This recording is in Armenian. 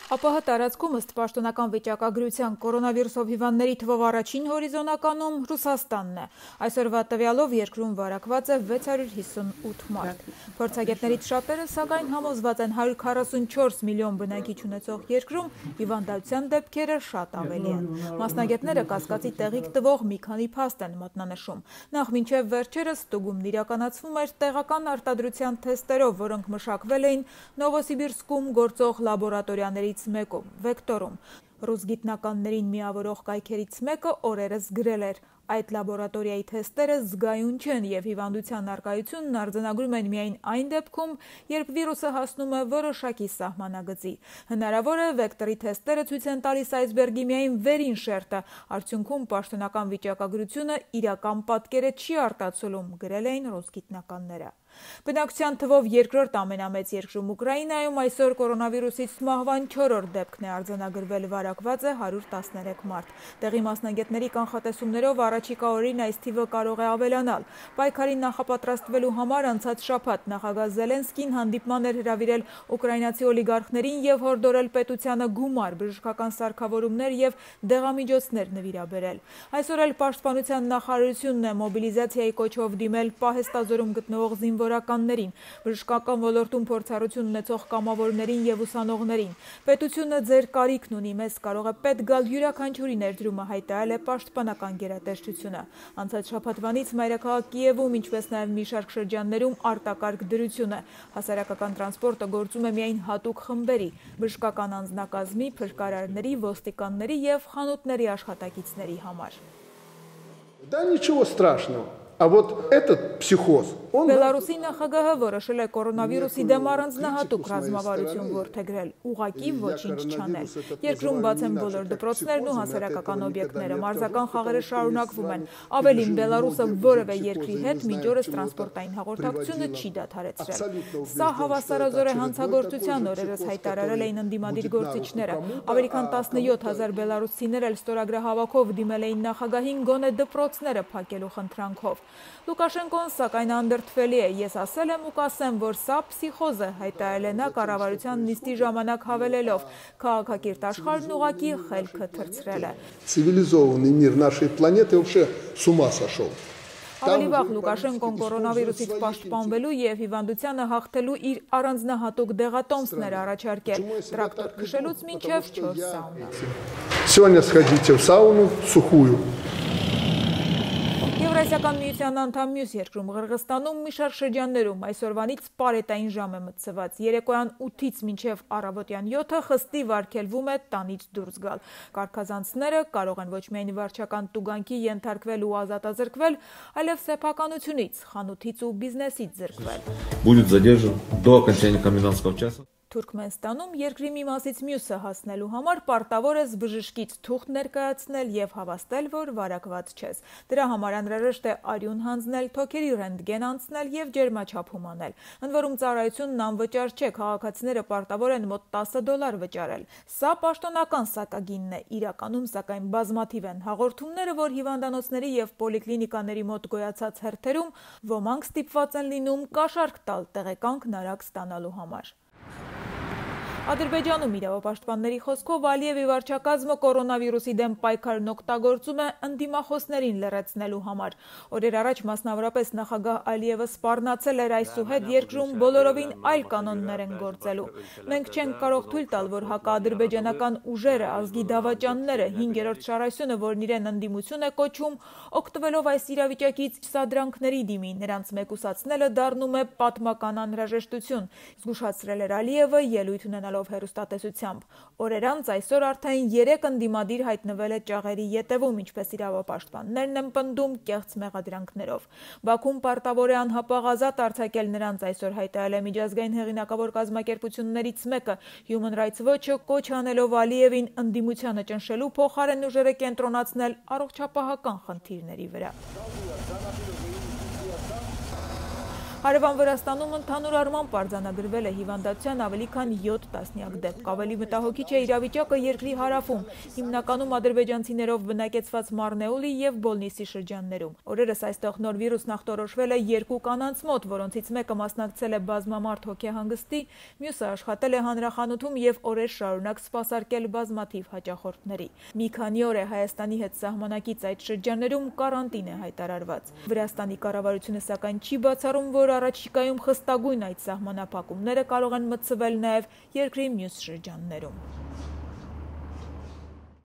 ԱՊՀ տարածքում ըստ պաշտոնական վիճակագրության կորոնավիրուսով հիվանդների թվով առաջին հորիզոնականում Ռուսաստանն է։ Այսօրվա տվյալով երկրում վարակված է 658 մարդ։ Փորձագետներից շատերը սակայն համոզված են 144 միլիոն բնակիչ ունեցող երկրում հիվանդության դեպքերը շատ ավելի են։ Մասնագետները կասկածի տեղիք տվող մի քանի փաստ են մատնանշում։ Նախ մինչև վերջերս ստուգումն իրականացվում էր տեղական արտադրության թեստերով, որոնք մշակվել էին Նովոսիբիրսկում գործող լաբորատորիաներից մեկում, Վեկտորում։ Ռուս գիտնականներին միավորող կայքերից մեկը օրերս գրել էր. այդ լաբորատորիայի թեստերը զգայուն չեն և հիվանդության առկայությունն արձանագրում են միայն այն դեպքում, երբ վիրուսը հասնում է որոշակի սահմանագծի։ Հնարավոր է վեկտորի թեստերը ցույց են տալիս այսբերգի միայն վերին շերտը, արդյունքում պաշտոնական վիճակագրությունը իրական պատկերը չի արտացոլում, գրել էին ռուս գիտնականները։ Բնակչության թվով երկրորդ ամենամեծ երկրում Ուկրաինայում այսօր կորոնավիրուսից մահվան 4-րդ դեպքն է արձանագրվել, վարակված է 113 մարդ։ Տեղի մասնագետների կանխատեսումներով առաջիկա օրերին այս թիվը կարող է ավելանալ։ Պայքարին նախապատրաստվելու համար անցած շաբաթ նախագահ Զելենսկին հանդիպման էր հրավիրել ուկրաինացի օլիգարխներին և հորդորել պետությանը գումար, բժշկական սարքավորումներ և դեղամիջոցներ նվիրաբերել։ Այսօր էլ պաշտպանության նախարարությունն է մոբիլիզացիայի կոչով դիմել պահեստազորում գտնվող զինվորականներին, բժշկական ոլորտում փորձառություն ունեցող կամավորներին և ուսանողներին։ Պետությունը ձեր կարիքն ունի, մեզ կարող է պետք գալ յուրաքանչյուրի ներդրումը, հայտարարել է պաշտպանական գերատեսչությունը։ Անցած շաբաթվանից մայրաքաղաք Կիևում, ինչպես նաև մի շարք շրջաններում արտակարգ դրություն է։ Հասարակական տրանսպորտը գործում է միայն հատուկ խմբերի, բժշկական անձնակազմի, փրկարարների, ոստիկանների և խանութների աշխատակիցների համար։ Да ничего страшного. А вот этот психоз, он... Բելարուսի նախագահը որոշել է կորոնավիրուսի դեմ առանձնահատուկ ռազմավարություն որդեգրել, ուղղակի ոչինչ չանել։ Երկրում բաց են բոլոր դպրոցներն ու հասարակական օբյեկտները, մարզական խաղերը շարունակվում են։ Ավելին, Բելարուսը որևէ երկրի հետ մինչ օրս տրանսպորտային հաղորդակցությունը չի դադարեցրել։ Սա հավասարազոր է հանցագործության, օրերս հայտարարել էին ընդդիմադիր գործիչները։ Ավելի քան 17,000 բելարուսցիներ էլ ստորագրահավաքով դիմել էին նախագահին գոնե դպրոցները փակելու խնդրանքով։ Լուկաշենկոն սակայն անդրդվելի է, ես ասել եմ ու կասեմ, որ սա փսիխոզ է, հայտարարել է նա կառավարության նիստի ժամանակ հավելելով, քաղաքակիրթ աշխարհն ուղղակի խելքը թռցրել է։ Цивилизованный мир нашей планеты вообще с ума сошел. Ավելի վաղ Լուկաշենկոն կորոնավիրուսից պաշտպանվելու և հիվանդությանը հաղթելու իր առանձնահատուկ դեղատոմսներ առաջարկել, տրակտոր քշելուց մինչև 4 սաունա։ Сегодня сходите в сауну сухую. Եվրասիական միության անդամ մյուս երկրում Ղրղստանում մի շարք շրջաններում այսօրվանից պարետային ժամ է մտցված։ Երեկոյան 8-ից մինչև առավոտյան 7-ը խստի վարգելվում է տանից դուրս գալ։ Կարգազանցները կարող են ոչ միայն վարչական տուգանքի ենթարկվել ու ազատազրկվել, այլև սեփականությունից, խանութից ու բիզնեսից զրկվել։ Будет задержан до окончания комендантского часа. Թուրքմենստանում երկրի մի մասից մյուսը հասնելու համար պարտավոր ես բժշկից թուղթ ներկայացնել և հավաստել, որ վարակված չես։ Դրա համար անհրաժեշտ է արյուն հանձնել, թոքերի ռենտգեն անցնել և ջերմաչափում անել։ Ընդ որում ծառայությունն անվճար չէ, քաղաքացիները պարտավոր են մոտ $10 վճարել։ Սա պաշտոնական սակագինն է, իրականում սակայն բազմաթիվ են հաղորդումները, որ հիվանդանոցների և պոլիկլինիկաների մոտ գոյացած հերթերում ոմանք ստիպված են լինում կաշառք տալ տեղեկանքն արագ ստանալու համար։ Ադրբեջանում իրավապաշտպանների խոսքով Ալիևի վարչակազմը կորոնավիրուսի դեմ պայքարն օգտագործում է ընդդիմախոսներին լռեցնելու համար։ Օրեր առաջ մասնավորապես նախագահ Ալիևը սպառնացել էր այսուհետ երկրում բոլորովին այլ կանոններ են գործելու։ Մենք չենք կարող թույլ տալ, որ հակաադրբեջանական ուժերը, ազգի դավաճանները, 5-րդ շարասյունը, որն իրեն ընդդիմություն է կոչում, օգտվելով այս իրավիճակից սադրանքների դիմի, նրանց մեկուսացնելը դառնում է պատմական անհրաժեշտություն, զգուշացրել էր Ալիևը ելույթ ունենալով հեռուստատեսությամբ։ Օրեր անց այսօր արդեն 3 ընդդիմադիր հայտնվել է ճաղերի ետևում, ինչպես իրավապաշտպաններն են պնդում կեղծ մեղադրանքներով։ Բաքուն պարտավոր է անհապաղ ազատ արձակել նրանց, այսօր հայտարարել է միջազգային հեղինակավոր կազմակերպություններից մեկը։ Human Rights Watch-ը կոչ անելով Ալիևին ընդդիմությանը ճնշելու փոխարեն ուժերը կենտրոնացնել առողջապահական խնդիրների վրա։ Հարևան Վրաստանում ընդհանուր առմամբ արձանագրվել է հիվանդության ավելի քան 7 տասնյակ դեպք։ Ավելի մտահոգիչ է իրավիճակը երկրի հարավում, հիմնականում ադրբեջանցիներով բնակեցված Մարնեուլի եւ Բոլնիսի շրջաններում։ Օրերս այստեղ նոր վիրուսն ախտորոշվել է 2 կանանց մոտ, որոնցից մեկը մասնակցել է բազմամարդ հոգեհանգստի, մյուսը աշխատել է հանրախանութում եւ օրեր շարունակ սպասարկել բազմաթիվ հաճախորդների։ Մի քանի օր է Հայաստանի հետ սահմանակից այդ շրջաններում կարանտին է հայտարարված։ Վրաստանի կառավարությունը սակայն չի բացառում, որ առաջիկայում խստագույն այդ սահմանափակումները կարող են մտցվել նաև երկրի մյուս շրջաններում։